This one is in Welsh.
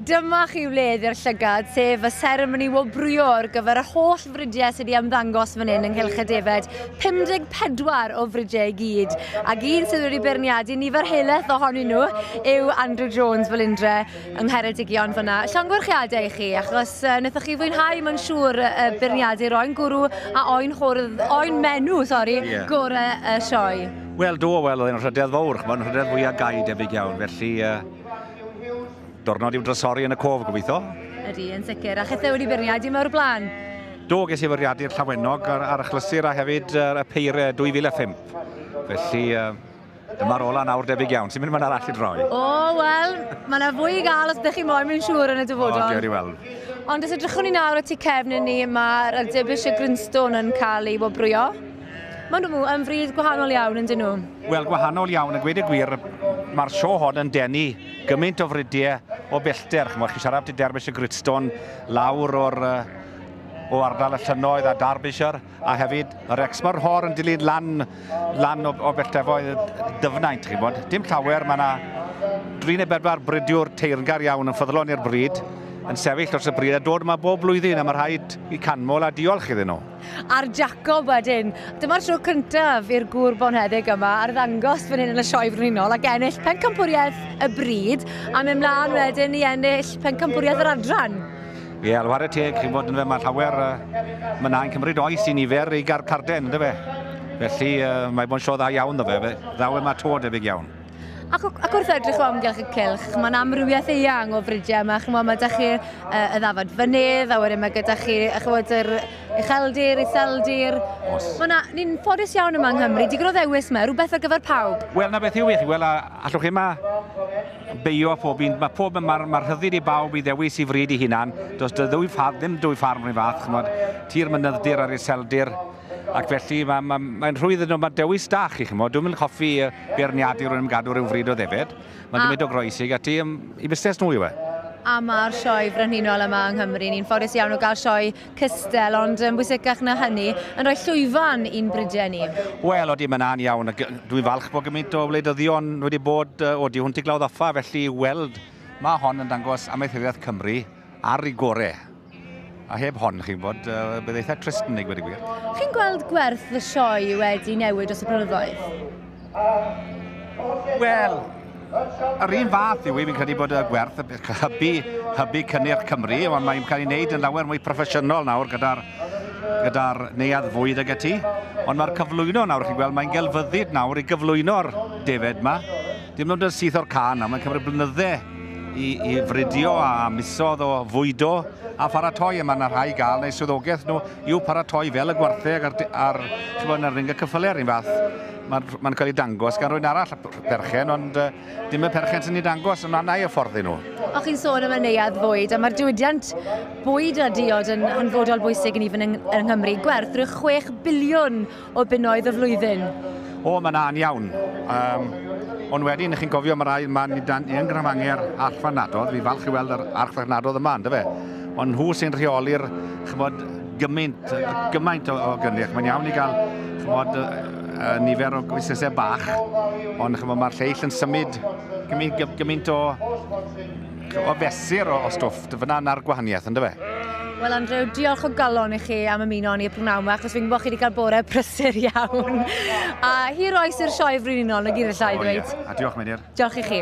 Dyma chi wledd i'r llygad, sef y seremoni wobrwyo ar gyfer yr holl fridiau sydd wedi ymddangos fan hyn yng Nghylch y Defaid. 54 o fridiau i gyd. Ac un sydd wedi beirniadu nifer helaeth ohonyn nhw yw Andrew Jones Felindre yng Ngheredigion fyna. Llongyfarchiadau i chi, achos uh, wnaethoch chi fwynhau, mae'n siŵr, y beirniadu oen gwrw a oen hwrdd, oen menw, sori, yeah. gorau y sioe. Wel, do, wel, oedd e'n rhydedd fawr, ch'mod, rhydedd fwyaf gai debyg iawn, felly uh, Diwrnod i'w drysori yn y cof, gobeithio. Ydy, yn sicr. A chithau wedi beirniadu yma o'r blaen? Do, ges i fwriadu'r Llawenog ar, ar achlysur a hefyd y Peire 2005. Felly, dyma'r ola nawr debyg iawn. Sy'n mynd ma'n arall i droi? O, wel, mae yna fwy i gael os ydych chi moyn, mae'n siŵr yn y dyfodol. O, diolch i weld. Ond os edrychwn ni nawr at tu cefn i ni, mae'r Derbyshire Grinstone yn cael ei wobrwyo. Maen nhw yn fryd gwahanol iawn, yn dyn nhw? Wel, gwahanol iawn, a gweud y gwir, mae'r sio hon yn denu gymaint o fridiau o bellter. Chimod, chi siarad am Derbyshire Gritstone lawr o'r, o ardal y llynnoedd a Derbyshire, a hefyd yr Exmoor Hor yn dilyn lan, lan o, o belltefoedd dyfnaint, chi'n bod. Dim llawer, mae yna dri neu bedwar bridiwr teyrngar iawn yn ffyddlon i'r bryd, yn sefyll dros y bryd a dod yma bob blwyddyn a mae rhaid i canmol a diolch iddyn nhw. A'r Jacob wedyn. Dyma'r tro cyntaf i'r gŵr bonheddig yma arddangos fan hyn yn y Sioe Frenhinol ac ennill pencampwriaeth y bryd a mynd mlaen wedyn i ennill pencampwriaeth yr adran. Ie, yeah, whare teg, chi'n bod yn fe, mae llawer, uh, mae na'n cymryd oes i nifer i gael carden, ynddo fe? Felly, uh, mae bod yn sio dda iawn ddo fe, ddaw e ma to debyg iawn. Ac, ac wrth edrych o amgylch y cylch, mae'n amrywiaeth eang o fridiau yma. Chymod, mae da chi y ddafad fynydd, a wedyn mae gyda chi chymod, yr ucheldir, iseldir. Os. Mae na, ni'n ffodus iawn yma yng Nghymru, digon o ddewis yma, rhywbeth ar gyfer pawb. Wel, na beth yw i chi, wel, allwch chi yma beio pob un, mae pob, mae'r ma rhyddid i bawb i ddewis i fryd i hunan, does dy ddwy ffarm, ddim dwy ffarm rhywun fath, chymod, tir mynydddir a'r iseldir, Ac felly mae'n ma, ma rhwydd yn nhw, mae dewis da chi, chymod. Dwi'n mynd hoffi beirniadu rhywun am gadw rhyw fryd o ddefed. Mae'n gymryd o groesi ati i busnes nhw yw e. A mae'r sioe frenhinol yma yng Nghymru, ni'n ffodus iawn o gael sioe cystel, ond yn bwysicach na hynny, yn rhoi llwyfan i'n bridiau ni. Wel, odi, mae'n an iawn. Dwi'n falch bod gymaint o wleidyddion wedi bod o di hwnt i Glawdd Offa, felly weld mae hon yn dangos amaethyddiaeth Cymru ar ei gore. A heb hon, chi'n gwybod, uh, bydd eitha trist yn ei gweud y gwir. Chi'n gweld gwerth y sioe wedi newid dros y blynyddoedd? Wel, yr un fath yw i, fi'n credu bod y gwerth hybu, hybu cynnyrch Cymru, ond mae'n cael ei wneud yn lawer mwy proffesiynol nawr gyda'r gyda neuadd fwyd ag ati. Ond mae'r cyflwyno nawr, chi'n gweld, mae'n gelfyddyd nawr i gyflwyno'r defed yma. Dim ond yn syth o'r can, a mae'n cymryd blynydde i, i fridio a misodd o fwydo a pharatoi, a mae yna rhai gael neu swyddogaeth nhw i'w paratoi fel y gwartheg a'r, ar, chymod, ar ring y cyffylau yr un fath. Mae'n ma cael ei dangos gan rwy'n arall perchen, ond uh, dim y perchen sy'n ei dangos, ond na i hyfforddi nhw. O chi'n sôn am y neuadd fwyd, a mae'r diwydiant bwyd a diod yn hanfodol bwysig yn even yng, yng Nghymru. Gwerth rhyw 6 biliwn o bunnoedd y flwyddyn. O, mae'n a'n iawn. Um, ond wedyn, chi'n cofio, mae rai, mae ni dan yn Grafanger archfarchnadodd, fi falch i weld yr archfarchnadodd yma, ynddo fe? Ond nhw sy'n rheoli'r, chymod, gymaint, gymaint o, o gynnyrch. Mae'n iawn i gael, chymod, nifer o busnesau bach, ond chymod, mae'r lleill yn symud gymaint, gymaint o, o fesur o, o stwff. Fyna na'r gwahaniaeth, ynddo fe? Wel, Andrew, diolch o galon i chi am ymuno ni y prynhawn yma, achos fi'n gwybod chi wedi cael bore prysur iawn. A hir oes i'r sioe frenhinol, na gyd allai ddweud. Yeah. A diolch, Meilir. Diolch i chi.